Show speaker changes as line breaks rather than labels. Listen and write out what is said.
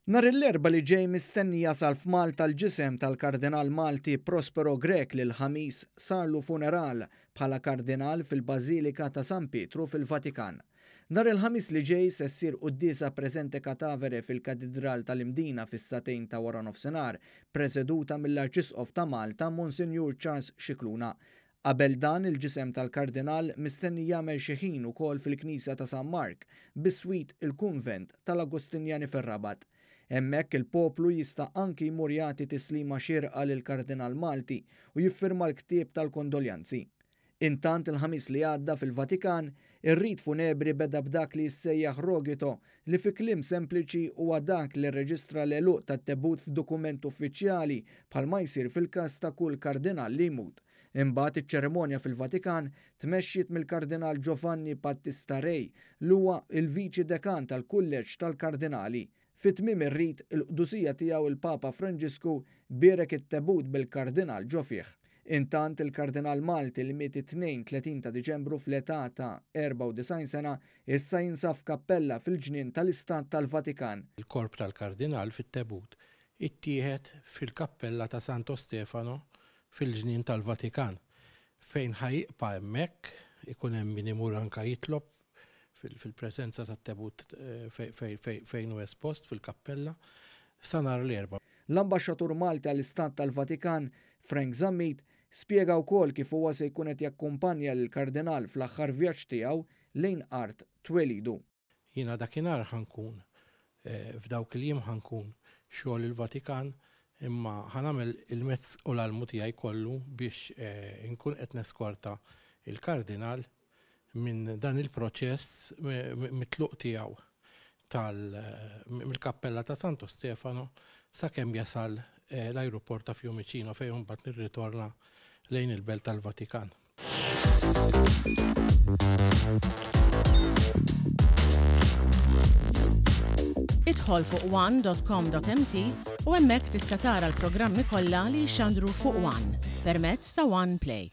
Nhar l-Erbgħa li ġej mistenni jasal f'Malta l-ġisem tal-Kardinal Malti Prospero Grech li l-Ħamis sarlu funeral bħala Kardinal fil-Bażilika ta' San Pietru fil-Vatikan. Nhar il-Ħamis li ġej se ssir quddiesa presente catavere fil-Katidral tal-Imdina fis-sagħtejn ta' waranofsinhar, preseduta mill-Arċisqof ta' Malta Monsinjur Charles Scicluna. Qabel dan, il-ġisem tal-Kardinal mistenni jagħmel xi ħin ukoll fil-Knisja ta' San Mark, biswit il-Kunvent tal-Agostinjani fir-Rabat. Hemmhekk il-poplu jista' anki jmur jagħti tislima xierqa lill-Kardinal Malti u jiffirma l-ktieb tal-kondoljanzi. Intant il-Ħamis li għadda fil-Vatikan, ir-rit funebri beda b'dak li jissejjaħ rogito li fi kliem sempliċi huwa dak li rreġistra l-għeluq tat-tebut f'dokument uffiċjali bħalma jsir fil-każ ta' kull kardinal li jmut. Imbagħad iċ-ċerimonja fil-Vatikan tmexxiet mill-Kardinal Giovanni Battista Re li huwa l-Viċi Dekan tal-Kulleġġ tal-Kardinali. Fi tmiem ir-rit, il-Qdusija Tiegħu il-Papa Franġisku bierek it-tebut bil-Kardinal ġo fih. Intant, il-Kardinal Malti li miet it-Tnejn 30 ta' Diċembru fl-età ta' 94 sena, issa jinsab f'kappella fil-ġnien tal-Istat tal-Vatikan.
Il-korp tal-Kardinal fit-tebut ittieħed fil-kappella ta' Santo Stefano fil-ġnien tal-Vatikan, fejn ħa jibqa' hemmhekk, ikun hemm min imur anke jitlob fil-preżenza tat-tebut fejn hu espost fil-kappella, sa nhar l-Erbgħa.
L-Ambaxxatur Malti għall-Istat tal-Vatikan, Frank Zammit, spjega wkoll kif huwa se jkun qed jakkumpanja lill-Kardinal fl-aħħar vjaġġ tiegħu lejn art twelidu.
Jiena dakinhar ħa nkun, f'dawk il-jiem ħa nkun xogħol il-Vatikan, imma ħa nagħmel il-mezz u l-almu tiegħi kollu biex inkun qed neskorta l-Kardinal minn dan il-proċess mit-tluq tiegħu tal mill-kappella ta' Santo Stefano sakemm jasal l-ajruport ta' Fiumicino fejn imbagħad nirritorna lejn il-Belt tal-Vatikan.
Idħol fuq one.com.mt u hemmhekk tista' tara l-programmi kollha li jixxandru fuq One permezz ta' One Play.